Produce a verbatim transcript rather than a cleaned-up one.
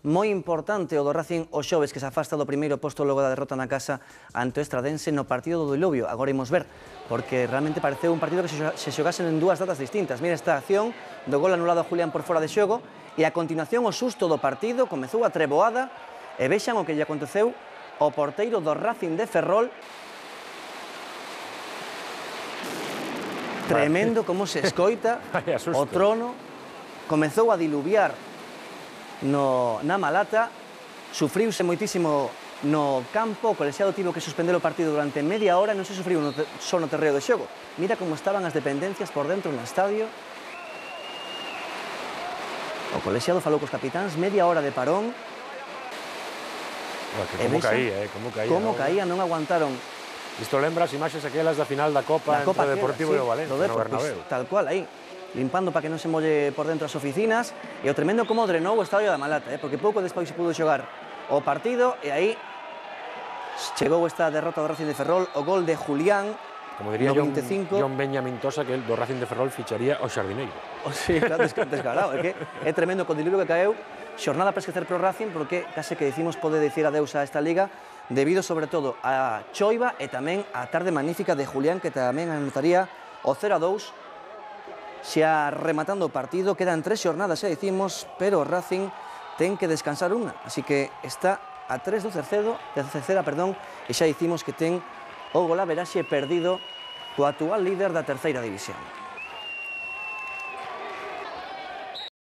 moi importante o do Racing o xoves, que se afasta do primeiro posto logo da derrota na casa ante o Estradense no partido do Diluvio. Agora imos ver, porque realmente pareceu un partido que se xogasen en dúas datas distintas. Mira esta acción do gol anulado a Julián por fora de xogo, e a continuación o susto do partido, comezou a treboada, e vexan o que lle aconteceu ao porteiro do Racing de Ferrol. Tremendo como se escoita o trono, comezou a diluviar no, na Malata, sufriuse moitísimo no campo, o colexiado tivo que suspender o partido durante media hora, non se sufriu no te, só no terreo de xogo. Mira como estaban as dependencias por dentro no estadio. O colexiado falou cos capitáns, media hora de parón. Bueno, que como caía, eh? Como caía, como ¿no? caía, non aguantaron. Isto lembra as imaxes aquelas da final da Copa da Copa entre o Deportivo sí, e o Valencia, no Bernabéu. Pues, tal cual, aí, limpando para que non se molle por dentro as oficinas, e o tremendo como drenou o estadio da Malata, eh? Porque pouco despois se pudo xogar o partido, e aí chegou esta derrota do Racing de Ferrol, o gol de Julián, como diría no John, vinte e cinco. John Benjamin Tosa, que el do Racing de Ferrol ficharía ao Xardineiro. O sí, claro, descarado, é que é tremendo co diluvio que caeu, xornada para esquecer pro Racing, porque case que dicimos pode dicir adeus a esta liga, debido sobre todo a choiva e tamén a tarde magnífica de Julián, que tamén anotaría o cero a dous, xa rematando o partido. Quedan tres xornadas, xa dicimos, pero o Racing ten que descansar unha, así que está a tres do terceiro, de terceira, perdón, e xa dicimos que ten o golaveraxe perdido co actual líder da terceira división.